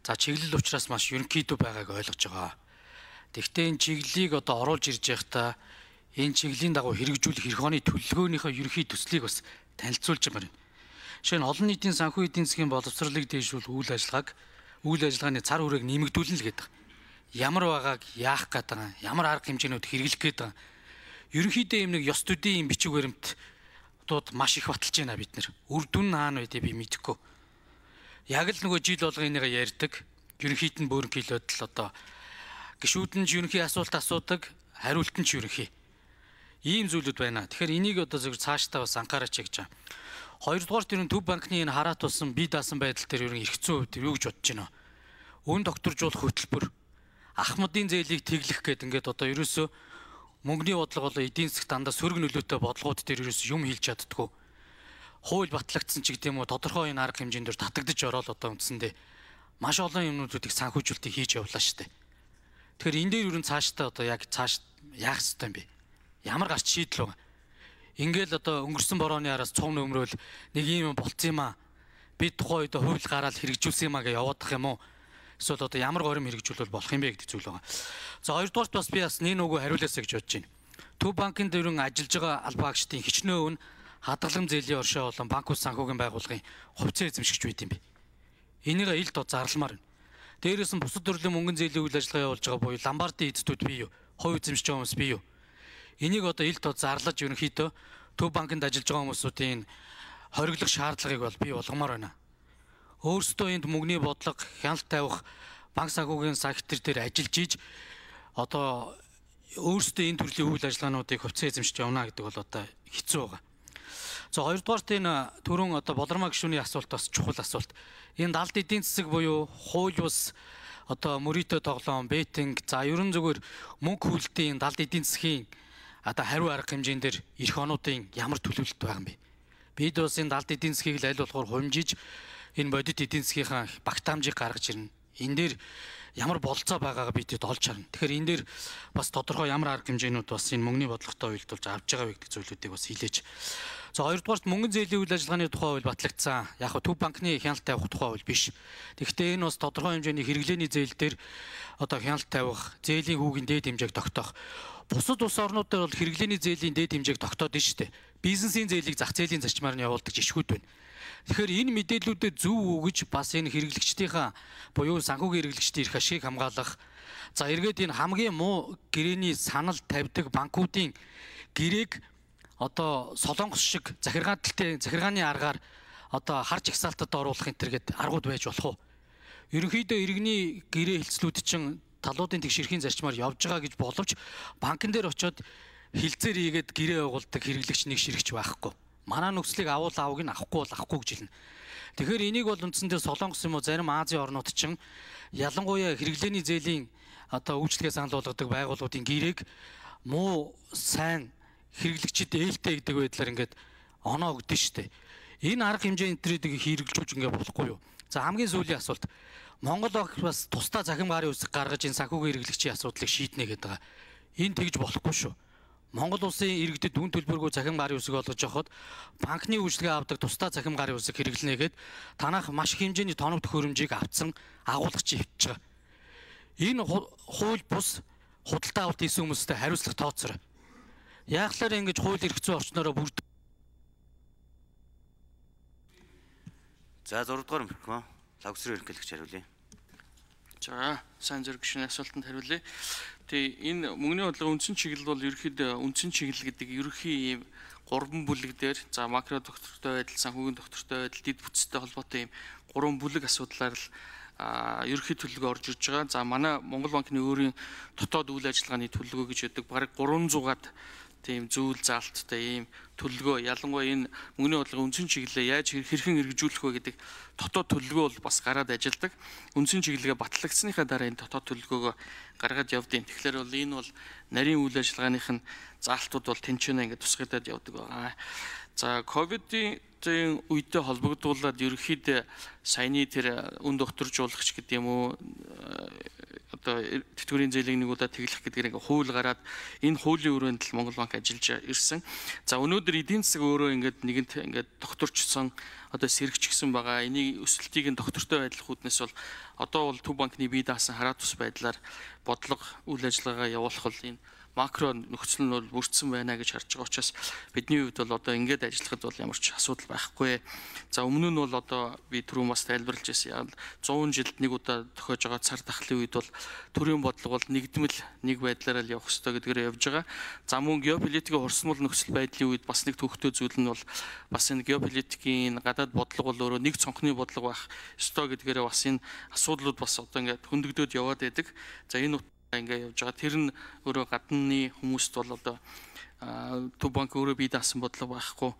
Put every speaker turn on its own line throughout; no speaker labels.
За чиглэл учраас маш ерөнхийдөө байгааг ойлгож байгаа. Тэгвэл энэ чиглэлийг одоо оруулж ирж байхдаа энэ чиглэлийн дагуу хэрэгжүүлэх эх оны төлөвлөгөөнийхөө ерөнхий төслийг бас танилцуулж байна. Жишээ нь олон нийтийн санхүү эдийн засгийн боловсролыг дэвшүүлэх үйл ажиллагааны цар хүрээг нэмэгдүүлнэ л гэдэг. Ямар байгааг яах гээд байгаа, ямар арга хэмжээнүүд хэрэглэх гээд байгаа. Ерөнхийдөө юм нэг ёс төдийн бичиг баримтууд маш их баталж байна бид нэр. Үр дүн хаана байдгийг би мэдэхгүй. Яг л нөгөө жил болгоо энийгээ ярьдаг. Ерөнхийд нь бөөрнхийлээд л одоо гишүүд нь ерөнхий асуулт асуудаг, хариулт нь ч ерөнхий. Ийм зүйлүүд байна. Тэгэхээр энийг одоо зөвхөн цаашдаа бас анхаараач гэж байна. Хоёрдугаар тэр Төв банкны энэ хараат болсон бие даасан байдал дээр ерөн эрхцэн хувьд юу гэж бодож байна. Өн докторжуулах хөтөлбөр ахмадын зээлийг тэглэх гэдэг ингээд одоо ерөөсөө мөнгөний бодлого болоо эдийн засгт дандаа сөрөг нөлөөтэй бодлогууд дээр ерөөсөө юм хэлж чаддгүй. Хууль батлагдсан ч гэдэм үү тодорхой энэ арга хэмжээнд татагдж ороод одоо үндсэндээ маш олон юмнуудыг санхүүжүүлэлтийг хийж явлаа шүү дээ. Тэгэхээр энэ дээр ерөн цаашдаа одоо яг цааш яах ёстой юм бэ? Ямар гарч шийдэл байгаа? Ингээл одоо өнгөрсөн борооны араас цом нөмрөөл нэг юм болцсон юм аа. Би тухайн үед хууль гараад хэрэгжүүлсэн юм аа гэж яваадах юм уу? Эсвэл одоо ямар горим хэрэгжүүлэл болох юм бэ гэдэг зүйл байгаа. За хоёрдугаарт бас би бас нэг нөгөө хариулаасаа гэж бодож байна. Төв банкын дөрвөн ажиллаж байгаа албаа агчдын хичнээн өвн хадгалан зээлийн оршоо болон банк ус санхүүгийн байгууллагын хувьцаа эзэмшигч байд юм бэ. Энийг ил дод зарламаар байна. Дээрээс нь бусад төрлийн мөнгөн зээлийн үйл ажиллагаа явуулж байгаа буюу ломбардын эзэдүүд бий юу? Хувь эзэмшиж байгаа хүмүүс бий юу? Энийг одоо ил дод зарлаж ерөнхийдөө Төв банкнд ажиллаж байгаа хүмүүсийн хориглох шаардлагыг бол бий болгомоор байна. Өөрсдөө энд мөнгөний бодлого хяналт тавих банк санхүүгийн сектор дээр ажиллаж иж одоо өөрсдөө энэ төрлийн үйл ажиллагаануудыг хувьцаа эзэмшиж явна гэдэг бол одоо хэцүү байгаа. За хоёрдугаарт энэ түрүүн одоо болормоо гишүүний асуулт бас чухал асуулт. Энэ далд эдийн засаг буюу хууль бус одоо мөрөөдөө тоглоом, беттинг, за ерөн зүгээр мөнгө хөлтийн далд эдийн засгийн одоо хариу арга хэмжээнд дэр эх онуудын ямар төлөвлөлт байгаа юм бэ? Бид бас энэ далд эдийн засгийг аль болохоор хумжиж энэ бодит эдийн засгийнхаа багтаамжийг гаргаж ирнэ. Энэ дээр ямар болцоо байгаагаа бидэд олж харна. Тэгэхээр энэ дээр бас тодорхой ямар арга хэмжээнүүд бас энэ мөнгөний бодлоготой уялдуулж авч байгаа гэдэг зүйлүүдийг бас хэлээж. За хоёрдугаарт мөнгөн зээлийн үйл ажиллагааны тухай хууль батлагдсан. Яг нь Төв банкны хяналт тавих тухай хууль биш. Тэгэхдээ энэ бас тодорхой хэмжээний хэрэглээний зээл дээр одоо хяналт тавих, зээлийн хүүгийн дээд хэмжээг тогтоох. Бусад улс орнууд дээр бол хэрэглээний зээлийн дээд хэмжээг тогтоод шүү дээ. Бизнесийн зээлийг зах зээлийн зарчмаар нь явуулдаг жишгүүд байна. Тэгэхээр энэ мэдээллүүдэд зөв өгж бас энэ хэрэглэгчдийнхаа буюу санхүүгийн хэрэглэгчдийн эрх ашиг хамгаалах. За эргээд энэ хамгийн муу гэрээний санал тавьдаг банкуудын гэрээг одоо солонгос шиг захиргааны аргаар одоо харж ихсаалтад оруулах энэ төр гэдэг аргууд байж болох уу? Ерөнхийдөө иргэний гэрээ хэлцлүүд чинь талуудын тэгшэрхийн зарчмаар явж байгаа гэж боловч банкн дээр очиод хилцээр хийгээд гэрээ байгуулдаг хэрэглэгч нэг ширхэж байхгүй. Манай нөхцөлийг авахыг нь авахгүй бол авахгүй гэж хэлнэ. Тэгэхээр энийг бол үндсэндээ солонгос юм уу зарим Азийн орнууд чинь ялангуяа хэрэглээний зээлийн одоо үйлчлэгээ санал болгодог байгууллагуудын гэрээг муу сайн хэрэглэгчид ээлтэй гэдэг байдлаар ингээд оноо өгдөн штэ. Энэ арга хэмжээ энтрийг хэрэгжүүлж ингээд болохгүй юу? За хамгийн сүүлийн асуулт. Монгол бас тусдаа захим гарын үсэг гаргаж энэ санхүүгийн хэрэглэгчийн асуудлыг шийднэ гэдэг байгаа. Энэ тэгж болохгүй шүү. Монгол улсын иргэдэд үн төлбөргүй захим гарын үсэг олгож явахад банкны үйлчлэгээ авдаг тусдаа захим гарын үсэг хэрэглэнэгээд танах маш их хэмжээний тоног төхөөрөмжийг авцсан агуулгач хөвч байгаа. Энэ хууль бус худалдаа авалт хийсэн хүмүүстэй хариуцлага тооцоорой. Яаглаар ингэж хууль эрх зүйн орчноороо бүрд.
За 6 дугаар микрофон лавсрын ерөнхийлөгч хариулъя.
За сайн зэрэг гишүүний асуултанд хариулъя. Тэгээ энэ мөнгөний бодлого үндсэн чиглэл бол ерөнхийдөө үндсэн чиглэл гэдэг ерөнхий ийм 3 бүлэг дээр за макро доктортой байдал, санхүүгийн доктортой байдал, дэд бүтцтэй холбоотой ийм 3 бүлэг асуудлаар л ерөнхий төлөвлөгөө орж ирж байгаа. За манай Монгол банкны өөрийн дотоод үйл ажиллагааны төлөвлөгөө гэж байдаг. Бараг 300-аад тийм зүйл заалттай ийм төлөвлөгөө ялангуяа энэ мөнгөний бодлогын үндсэн чиглэлээ яаж хэрхэн хэрэгжүүлэх вэ гэдэг дотоод төлөвлөгөө бол бас гараад ажилладаг. Үндсэн чиглэлгээ батлагдсныхаа дараа энэ дотоод төлөвлөгөөгөө гаргаад явдیں۔ Тэгэхээр бол энэ бол нарийн үйл ажиллагааных нь заалтууд бол тэнцэнэ ингээд тусгагдаад явдаг байгаа. За ковидын үедээ холбогдуулаад ерөнхийдөө саяны тэр үн докторжуулагч гэдэг юм уу одоо тэтгэврийн зээлийг нэг удаа тэглэх гэдгээр ингээ хууль гараад энэ хуулийн өрөөнд л Монгол банк ажиллаж ирсэн. За өнөөдөр эдийн засаг өөрөө ингээд нэгэнт ингээд докторчсон одоо сэргэгчсэн байгаа. Энийг өсөлтийг нь доктортой байдлах үүднээс бол одоо бол Төв банкны бие даасан хараат ус байдлаар бодлого үйл ажиллагаагаа явуулах бол энэ макро нөхцөл нь бол бүрдсэн байна гэж харж байгаа учраас бидний хувьд бол одоо ингээд ажиллахад бол ямар ч асуудал байхгүй. За өмнө нь бол одоо би түрүүн бас тайлбарлаж байсан. Яг 100 жилд нэг удаа тохиож байгаа цар тахлын үед бол төрийн бодлого бол нэгдмэл нэг байдлаараа л явах ёстой гэдгээр явж байгаа. За мөн геополитикийн хурцмал нөхцөл байдлын үед бас нэг төвхтэй зүйл нь бол бас энэ геополитикийн гадаад бодлого бол өөрөө нэг цонхны бодлого байх ёстой гэдгээр бас энэ асуудлууд бас одоо ингээд хөндөгдөд яваад байдаг. За энэ ингээ явж байгаа. Тэр нь өөрөө гадны хүмүүст бол одоо Төв банк өөрөө бие даасан бодлого байхгүй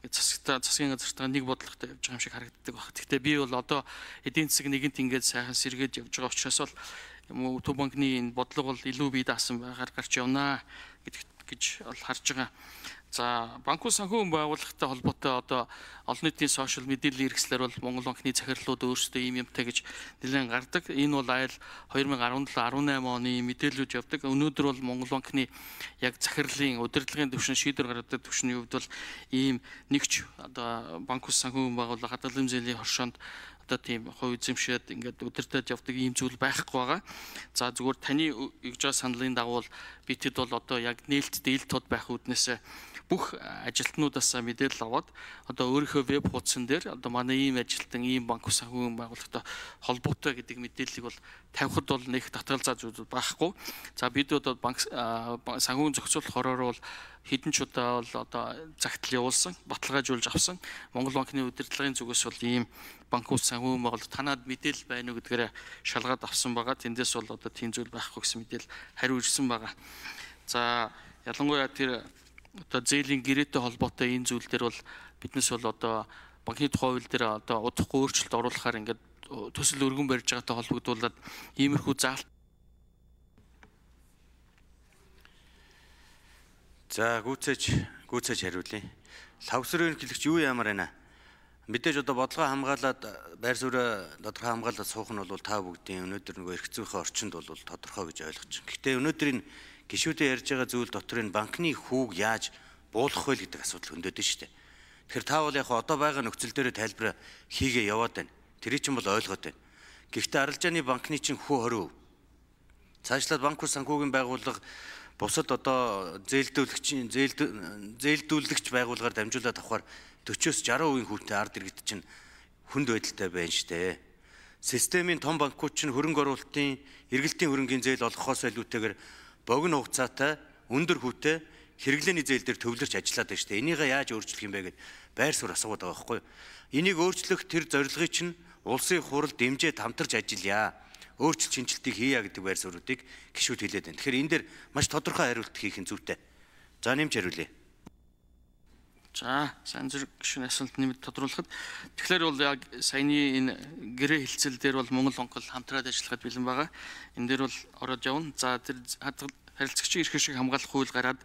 засгийн газартаа нэг бодлоготой явж байгаа юм шиг харагддаг баг. Гэхдээ би бол одоо эдийн засаг нэгэнт ингээд сайхан сэргээд явж байгаа учраас бол Төв банкны энэ бодлого бол илүү бие даасан байгаар гарч явнаа гэж бол харж байгаа. За банкуй санхүүгийн байгууллагатай холбоотой одоо олон нийтийн сошиал мэдээллийн хэрэгслэр бол Монгол банкны захирлууд өөрсдөө ийм юмтай гэж нэлээд гардаг. Энэ бол айл 2017-18 оны мэдээлэлүүд явдаг. Өнөөдөр бол Монгол банкны яг захирлын удирдлагын түвшин шийдвэр гаргадаг түвшний хувьд бол ийм нэгч одоо банкуй санхүүгийн байгууллага хадгалан зээлийн хоршоонд одоо тийм хувь эзэмшээд ингээд удирдах явдаг ийм зүйл байхгүй байгаа. За зүгээр таны өгж байгаа саналын дагуу би тэд бол одоо яг нээлттэй ил тод байх үүднээс бүх ажилтнуудаасаа мэдээлэл аваад одоо өөрийнхөө веб хуудсан дээр одоо манай ийм ажилтан ийм банк санхүүгийн байгууллагатай холбоотой гэдэг мэдээллийг бол тавихад бол нэг татгалзаа зүйл байхгүй. За бид одоо банк санхүүгийн зохицуулах хороор бол хэдэн ч удаа бол одоо загтал явуулсан, баталгаажуулж авсан. Монгол банкны удирдлагын зүгээс бол ийм банкуд санхүүгийн байгууллага танаад мэдээлэл байна уу гэдгээр шалгаад авсан байгаа. Тэндээс бол одоо тийм зүйл байхгүй гэсэн мэдээлэл хариу ирсэн байгаа. За ялангуяа тэр одоо зээлийн гэрээтэй холбоотой энэ зүйл дээр бол биднес бол одоо банкны тухай хууль дээр одоо удахгүй өөрчлөлт оруулахаар ингээд төсөл өргөн барьж байгаатай холбогдуулаад иймэрхүү заалт.
За гүйцээж хариулъя. Лавсрын ерөнхийлөгч юу ямар байна? Мэдээж одоо бодлого хамгаалаад байр суурь тодорхой хамгаалаад суух нь бол та бүгдийн өнөөдөр нөгөө эрх зүйнхээ орчинд бол тодорхой гэж ойлгож байна. Гэхдээ өнөөдрийн гишүүдээ ярьж байгаа зүйл дотор энэ банкны хүүг яаж буулгах вэ гэдэг асуудал хөндөд нь шүү дээ. Тэгэхээр та бол яг одоо байгаа нөхцөл дээр тайлбар хийгээ яваад байна. Тэрийг чинь бол ойлгоод байна. Гэхдээ арилжааны банкны чинь хүү 20%. Цаашлаад банк санхүүгийн байгууллага бусад одоо зээлдүүлэгч байгууллагаар дамжуулаад авахар 40-60% хүүтэй ард иргэд чинь хүнд байдалтай байна шүү дээ. Системийн том банкуд чинь хөрөнгө оруулалтын эргэлтийн хөрөнгийн зээл олгохоос илүүтэйгээр богино хугацаатай өндөр хүүтэй хэрэглээний зээл дээр төвлөрч ажиллаад байна шүү дээ. Энийг яаж өөрчлөх юм бэ гэд байр суурь асуугаад байгаа байхгүй юу? Энийг өөрчлөх тэр зорилгыг чинь улсын хурал дэмжээд хамтарч ажиллая. Өөрчлөлт шинжилтийг хийя гэдэг байр суурьуудыг гишүүд хэлээд байна. Тэгэхээр энэ дээр маш тодорхой хариулт хийх нь зүйтэй. За нэмж хариулъя.
За сайн зэрэг гишүүний асуулт нэмэд тодруулахад тэгэхээр бол яг саяны энэ гэрээ хэлцэл дээр бол Монгол банк хамтраад ажиллахад бэлэн байгаа. Энэ дээр бол ороод явна. За тэр харилцагчийн эрх ашиг хамгаалах хууль гараад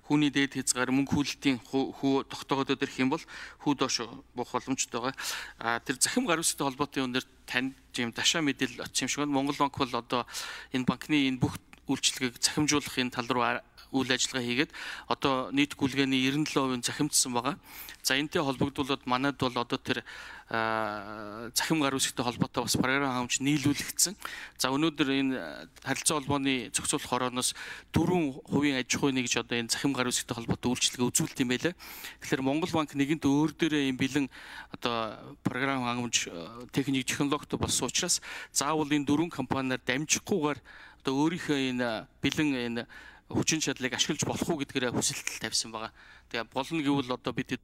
хүүний дээд хязгаар мөнгө хүлэлтийн хүү тогтоогдоод ирэх юм бол хүү доош буух боломжтой байгаа. Тэр захим гар үстэй холбоотой юм дээр танд юм дашаа мэдээлэл очсон юм шиг байна. Монгол банк бол одоо энэ банкны энэ бүх үйлчлэгийг захимжуулах энэ тал руу үйл ажиллагаа хийгээд одоо нийт гүйлгээний 97% захимдсан байгаа. За энэтэй холбогдуулаад манайд бол одоо тэр захим гар үсгтэй холбоотой бас програм хамж нийлүүлэгдсэн. За өнөөдөр энэ харилцаа холбооны зохицуулах хорооноос 4% аж ахуйн гэж одоо энэ захим гар үсгтэй холбоотой үйлчлэгээ үзүүлт юм байлаа. Тэгэхээр Монгол банк нэгэнт өөр дээрээ юм бэлэн одоо програм хангамж техник технологитой болсон учраас заавал энэ 4 компаниар дамжихгүйгээр одоо өөрийнхөө энэ бэлэн энэ хүчин чадлыг ашиглаж болох уу гэдгээр хүсэлт тавьсан байгаа. Тэгээ болно гэвэл одоо бид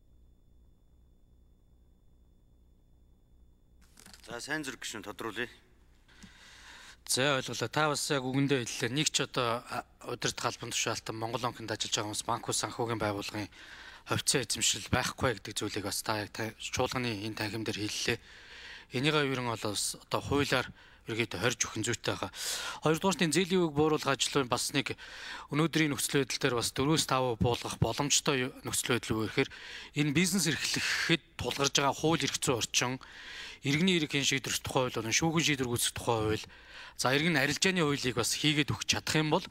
За сайн зэрэг гişүн тодруулъя.
За ойлголоо. Та бас яг үгэндээ хэллээ. Нэг ч одоо удирдах албан тушаалтан Монгол банкнд ажиллаж байгаа хүмүүс банк санхүүгийн байгууллагын хувьцаа эзэмшил байхгүй гэдэг зүйлийг бас та яг чуулганы энэ танхим дээр хэллээ. Энийгээ ерөн бол одоо хуулиар ерөөдөө хорж өгөх зүйтэй байгаа. Хоёрдугаарт зээлийн үеийг бууруулах ажлын бас нэг өнөөдрийн нөхцөл байдал дээр бас 4-5% буулгах боломжтой нөхцөл байдал үү гэхээр энэ бизнес эрхлэхэд тулгарж байгаа хууль эрх зүйн орчин, иргэний эрх хэн шийдвэрлэх тухай хууль болон шүүгэн шийдвэр гүйцэх тухай хууль, за иргэн арилжааны хуулийг бас хийгээд өгч чадах юм бол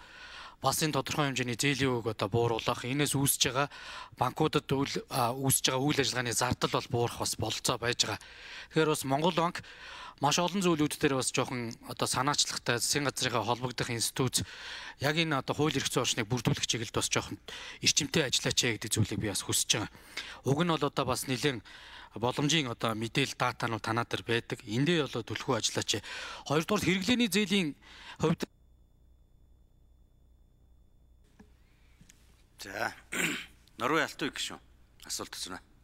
бас энэ тодорхой хэмжээний зээлийн үеийг одоо бууруулах, энэс үүсэж байгаа банкудад үүсэж байгаа үйл ажиллагааны зардал бол буурах бас бололцоо байж байгаа. Тэгэхээр бас Монгол банк маш олон зүйлүүд дээр бас жоохон одоо санаачлагтай засгийн газрынхаа холбогдох институт яг энэ одоо хууль эрх зүйн орчныг бүрдүүлэх чиглэлд бас жоохон эрчимтэй ажиллаач гэдэг зүйлийг би бас хүсэж байгаа. Уг нь бол одоо бас нэлээд боломжийн одоо мэдээлэл датанууд танаа дээр байдаг. Эндээ болоо түлхүү ажиллаач. Хоёрдугаар хэрэглээний зээлийн хувьд
за Норвей Алтан гişүн асуулт өгсөн.